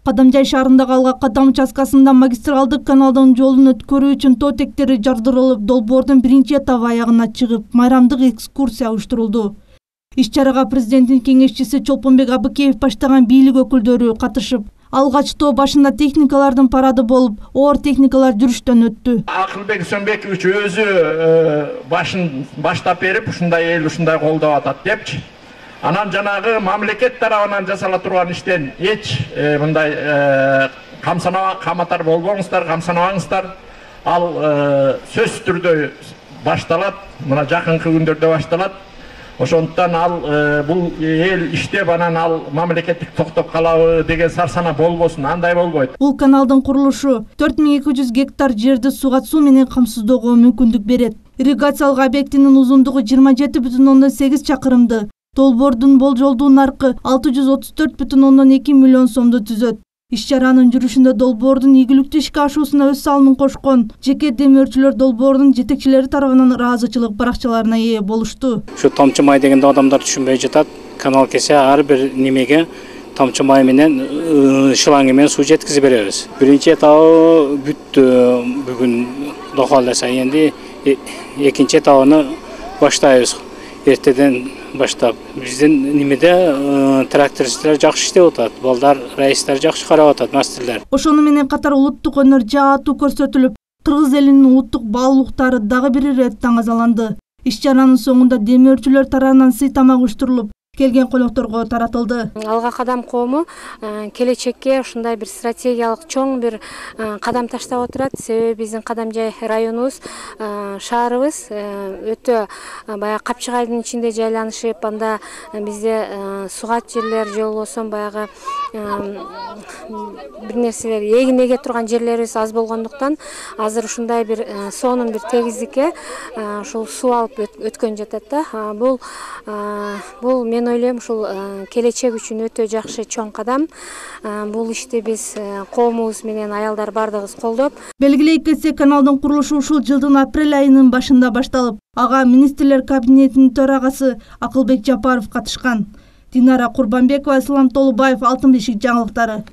Кадамжай шаарындагы Алга Кадам участкасында магистралдык каналдын жолун өткөрүү үчүн тоо тектери жардырылып, долбоордун биринчи этабы аягына чыгып, майрамдык экскурсия уюштурулду. Иш-чарага президенттин кеңешчиси Чолпонбек Абыкеев баштаган бийлик өкүлдөрү катышып, алгач тоо башында техникалардын парады болуп, оор техникалар жүрүштөн өттү. Акылбек Сөнбекович өзү баштап берип, ушундай эл ушундай колдоп атат депчи. Анан жанагы мамлекет тарабынан жасала турган иштен эч мындай каматар болбоңуздар, камсанабаңыздар. Ал сөзсүз түрдө башталат, мына жакынкы күндөрдө башталат. Ошондуктан ал бул эл иштеп, анан ал мамлекеттик токтоп калабы деген сарсана болбосун, андай болбойт. Бул каналдын курулушу 4200 гектар жерди суга суу менен камсыздоого мүмкүндүк берет. Ирригациялык объектинин узундугу 27,8 чакырымды. Долбоордун болжолдуу наркы 634,2 миллион сомду түзөт. Иш-чаранын жүрүшүндө долбоордун ийгиликтүү ишке ашуусуна өз салымын кошкон жеке демөөрчүлөр долбоордун жетекчилери тарабынан ыраазычылык баракчаларына ээ болушту. Ушу тамчы май дегенде адамдар түшүнбөй жатат. Канал кесе ар бир немеге тамчы май менен шланг менен суу жеткизип беребиз. Биринчи этабы бүттү бүгүн Кудо кааласа, энди экинчи этабын баштайбыз. Эртеден баштап биздин немеде трактористтер жакшы иштеп атат, балдар, райыстар жакшы карап атат, мастерлер. Ошону менен катар улуттук өнөр жаатуу көрсөтүлүп, кыргыз элинин улуттук баалуулуктары дагы бир ирет таңазаланды. Иш-чаранын соңунда демөөрчүлөр тарабынан сый тамак уюштурулуп, келген конокторго таратылды. Алга Кадам коому келечекке ушундай бир стратегиялык чоң бир кадам таштап отурат. Себеби биздин Кадамжай районубуз, шаарыбыз өтө баягы Капчыгайдын ичинде жайланышып, анда бизде сугат жерлер же болбосо баягы бир нерселер эгин эге турган жерлерибиз аз болгондуктан азыр ушундай бир сонун бир тегиздикке ушул суу алып өткөн жатат да. Бул мен ойлойм ушул келечек үчүн өтө жакшы чоң кадам. Бул ишти биз коомубуз менен аялдар бардыгыбыз колдоп. Белгилей кетсек, каналдын курулушу ушул жылдын апрель айынын башында башталып, ага министрлер кабинетинин төрагасы Акылбек Жапаров катышкан. Динара Курбанбекова, Ислам Толубаев, Алтын бешик жаңылыктары.